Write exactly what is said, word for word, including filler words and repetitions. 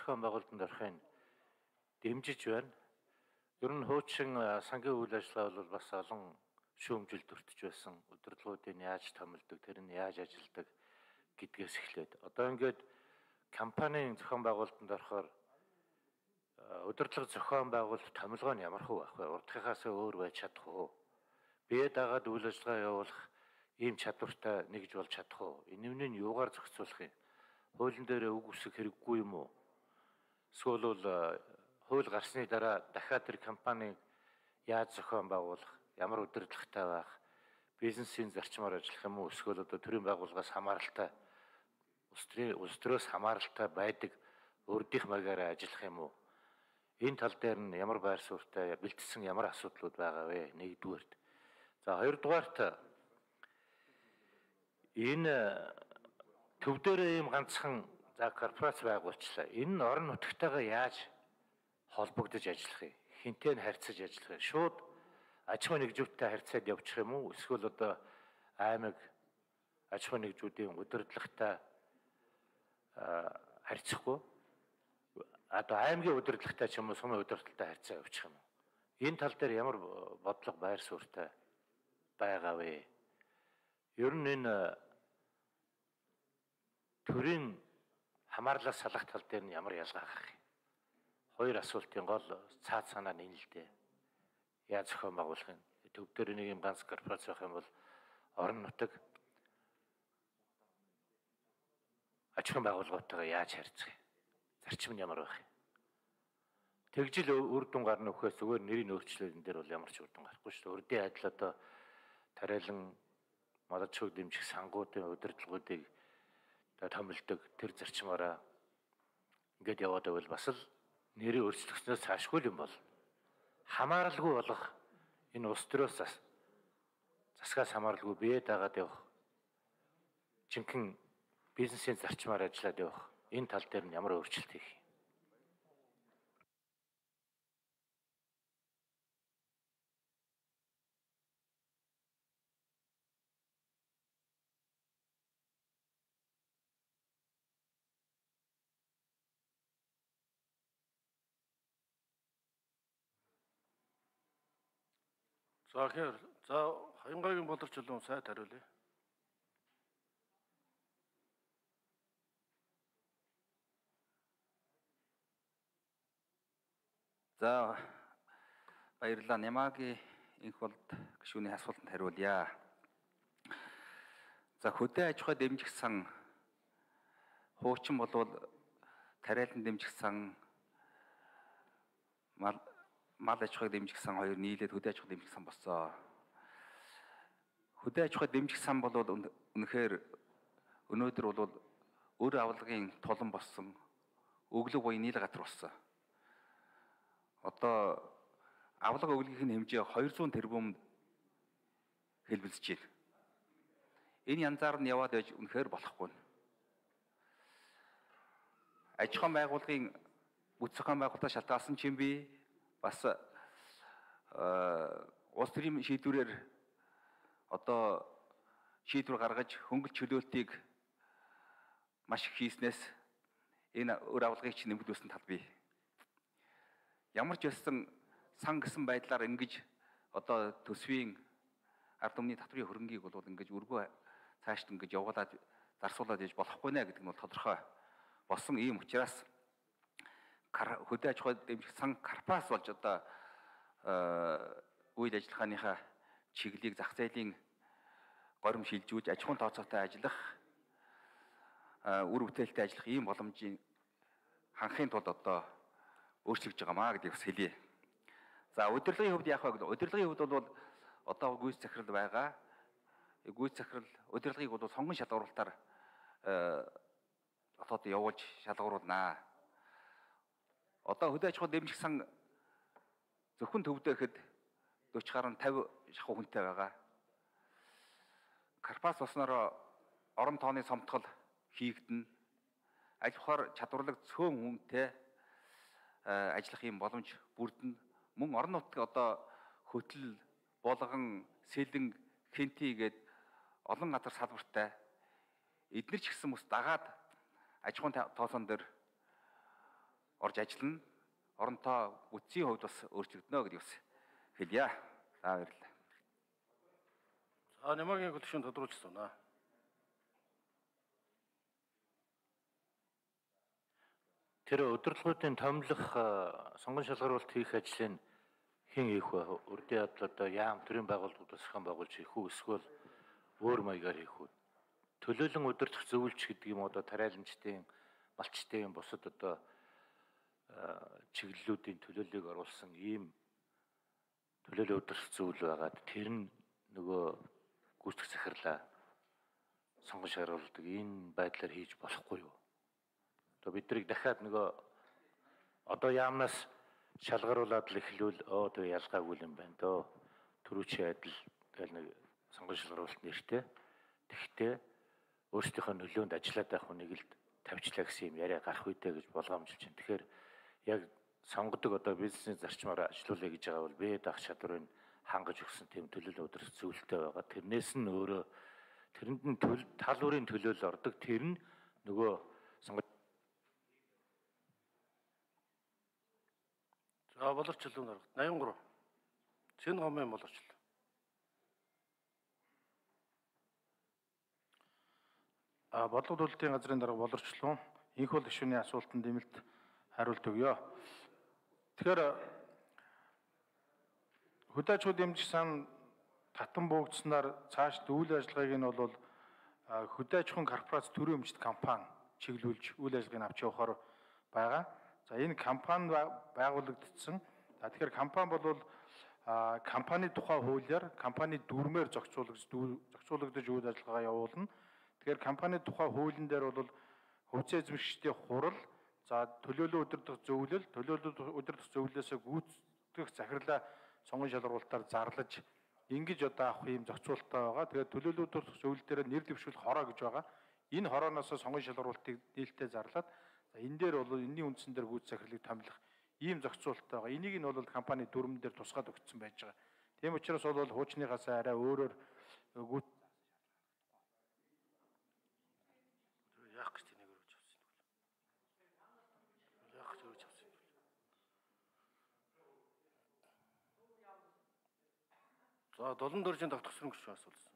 зохион байгуулалтанд орохын дэмжиж байна. Ер нь хуучин сангийн үйл ажиллагаа бол бас олон шүүмжилд өртөж байсан. Удирдлагуудыг яаж томилдог, тэр нь яаж ажилладаг гэдгээс эхлээд. Одоо ингээд компанийн зохион байгуулалтанд орохоор удирдлага зохион байгуулалт томилгоо нь ямар хөө байх вэ? Урдхийнхаас өөр байж чадах уу? Бие дагаад үйл ажиллагаа явуулах ийм чадвартай нэгж болж чадах уу? Энэ нь юугаар зохицуулах юм? Хуулийн дээр үг үсэх хэрэггүй юм уу? Эсвэл бол хууль гарсны дараа дахиад тэр компаниг яаж зохион байгуулах, ямар удирдлагатай байх, бизнесийн зарчмаар ажиллах юм уу? Эсвэл одоо төрийн байгууллагаас хамааралтай, улс төрөөс хамааралтай байдаг урдих маягаар ажиллах юм уу? Энэ тал дээр нь ямар байр суурьтай бэлтгэсэн ямар асуудлууд байгаа вэ? Нэгдүгээрт. За хоёрдугаарт энэ төв дээрээ ийм ганцхан за корпорац байгуулчлаа. Энэ нь орон нутгатайгаа яаж холбогдож ажиллах юм? Хинтээ нь харьцаж ажиллах юм? Шууд аж ахуйн нэгжүүдтэй харьцаад явчих юм уу? Эсвэл одоо аймаг аж ахуйн нэгжүүдийн удирдлагатай харьцахгүй? Одоо аймгийн удирдлагатай ч юм уу сумын удирдлагатай харьцаа явуучих юм уу? Энэ тал дээр ямар бодлого байр суурьтай байгаа вэ? Ер нь энэ төрийн хамаарлаас салах тал дээр нь ямар ялгаа гарах юм? Хоёр асуултын гол цаад санаа нь энэ л дээ. Яаж зохион байгуулах юм? Төв дээр нэг юм ганц корпорац байх юм бол орон нутаг аж ахуйн байгууллагатайгаа яаж харьцах юм? Зарчим нь ямар байх юм? Тэгжил үр дүн гарна өгөхөөс зүгээр нэрийн өөрчлөлтөн дээр бол ямар ч үр дүн гарахгүй шүү дээ. Урдын адил одоо тариалан малчууг дэмжих сангуудын удирдлагуудыг томилдог тэр зарчмаараа ингээд яваад байвал бас л нэрийн өөрчлөгчнөөс цаашгүй юм бол хамааралгүй болох энэ улс төрөөс засгаас хамааралгүй бие дагаад явах жинхэнэ бизнесийн зарчмаар ажиллаад явах энэ тал дээр нь ямар өөрчлөлт хийх юм? За тэгэхээр за Хаянгагийн боловч чулуун сайд хариулъя. За баярлалаа. Нямаагийн инх болд гишүүний асуултанд хариулъя. За хөдөө аж ахуй дэмжих сан хуучин болвол тариалан дэмжих сан мал мал аж ахуйг дэмжих сан хоёр нийлээд хөдөө аж ахуй дэмжих сан болсон. Хөдөө аж ахуй дэмжих сан бол үнэхээр өнөөдөр бол өр авлагын тулан болсон өглөг буян нийл газар болсон. Одоо авлага өглөгийн хэмжээ хоёр зуун тэрбум хэлбэлцэж байна. Энэ янзаар нь яваад байж үнэхээр болохгүй. Аж ахуйн байгууллагын бүс зохион байгуулалтаа шалтгаалсан ч юм би бас улс төрийн шийдвэрээр одоо шийдвэр гаргаж хөнгөлт чөлөөлтийг маш их хийснээс энэ өр авлагыг ч нэмэгдүүлсэн тал бий. Ямар ч байсан сан гэсэн байдлаар ингэж одоо төсвийн ард түмний татврын хөрөнгийг бол ингэж үргөө цаашд ингэж явуулаад зарсуулаад яж болохгүй нэ гэдэг нь бол тодорхой болсон. Ийм учраас хөдөө аж ахуй дэмжих сан карпас болж одоо үйл ажиллагааныхаа чиглэлийг зах зээлийн горим шилжүүлж аж ахуйн тооцоотой ажиллах үр бүтээлтэй ажиллах ийм боломжийн ханхын тулд одоо өөрчлөгдөж байгаамаа гэдгийг бас хэлье. За удирдлагын хувьд яах вэ гэвэл удирдлагын хувьд бол одоо гүйц захирал байгаа. Гүйц захирал удирдлагыг бол сонгон шалгууруулалтаар одоо явуулж шалгууруулнаа. Одоо хөдөө аж ахуй дэмжих сан зөвхөн төвдөө ихэд дөрвөн гаруй тавь шахуу хүнтэй байгаа. Карпас болсноор орон тооны сомтгол хийгдэнэ. Аж ахуйр чадварлаг цөөн хүнтэй ажиллах юм боломж бүрдэнэ. Мөн орон нутгийн одоо хөтөл болгон сэлэн хэнти гээд олон газар салбартай эдгээр ч гэсэн бас дагаад аж ахуйн тооцоон дээр орж ажиллана. Оронтой үтсийн хувьд бас өөрчлөгдөнө гэдгийг бас хэлье. За баярлалаа. За Нямаагийн хөтөлбөрийн тодруулсан байна. Тэр удирдлагуудын томилох сонгон шалгаруулалт хийх ажлыг хэн хийх вэ? Урдын явдал одоо яам төрийн байгууллагууд зохион байгуулж хийх үү? Эсвэл өөр маягаар хийх үү? Төлөөлөн удирдах зөвлөлч гэдэг юм одоо тариаланчдын, малчдын бусад одоо чиглэлүүдийн төлөөллийг оруулсан ийм төлөөлөл удирдах зөвлөл байгаад тэр нь нөгөө гүйцэтгэх захирлаа сонгон шалгаруулдаг энэ байдлаар хийж болохгүй юу? Одоо биднийг дахиад нөгөө одоо яамнаас шалгаруулад л эхлүүл оо тэг ялгаагүй юм байна дөө. Төрүүчийн адил тэгэл нэг сонгон шалгаруулалт нэртэй. Тэгтээ өөрсдийнхөө нөлөөнд ажиллаад байх хүнийг л тавьчлаа гэсэн юм яриа гарах үедээ гэж болгоомжилж байна. Тэгэхээр яг сонгодог одоо бизнесийн зарчмаар ажилуулъя гэж байгаа бол бие даах чадварыг хангаж өгсөн тийм төлөөлөл удирдах зөвлөлттэй байгаа. Тэрнээс нь өөрөө тэрэнд нь тал бүрийн төлөөлөл ордог. Тэр нь нөгөө сонгож За боловсчлон дарга восемьдесят три. Чин гомын боловсчлон. А бодлого төлөлтийн газрын дарга боловсчлон инх бол гишүүний асуултанд нэмэлт хариулт өгье. Тэгэхээр хөдөөчүүд дэмжих сан татан буугдсанаар цааш үйл ажиллагааг нь бол хөдөөчхөн корпорац төрийн өмчт компани чиглүүлж үйл ажиллагааг авч явахаар байгаа. За энэ компани байгуулагдсан. За тэгэхээр компани бол компани тухай хуулиар компани дүрмээр зохицуулагдж зохицуулагдж үйл ажиллагаа явуулна. Тэгэхээр компани тухай хуулийн дээр бол хөвцөө эзэмшигчдийн хурал, за төлөөлөл удирдах зөвлөл, төлөөлөл удирдах зөвлөлөөсөө гүйцэтгэх захирлаа сонгон шалгаруулалтаар зарлаж ингэж одоо авах юм зохицуулалттай байгаа. Тэгээд төлөөлөл удирдах зөвлөл дээр нэр дэвшүүл хороо гэж байгаа. Энэ хорооноос сонгон шалгаруулалтыг нээлттэй зарлаад за энэ дээр бол энэний үндсэн дээр гүйц захирлыг томилох ийм зохицуулалттай байгаа. Энийг нь бол компани дүрмэн дээр тусгаад өгсөн байж байгаа. Тийм учраас бол хуучныхаас арай өөрөөр гүйц яах гэж тэнийг өргөж авсан юм бэ? Яах гэж өргөж авсан юм бэ? За долоон дөржин давтагсан гэж асуулсан.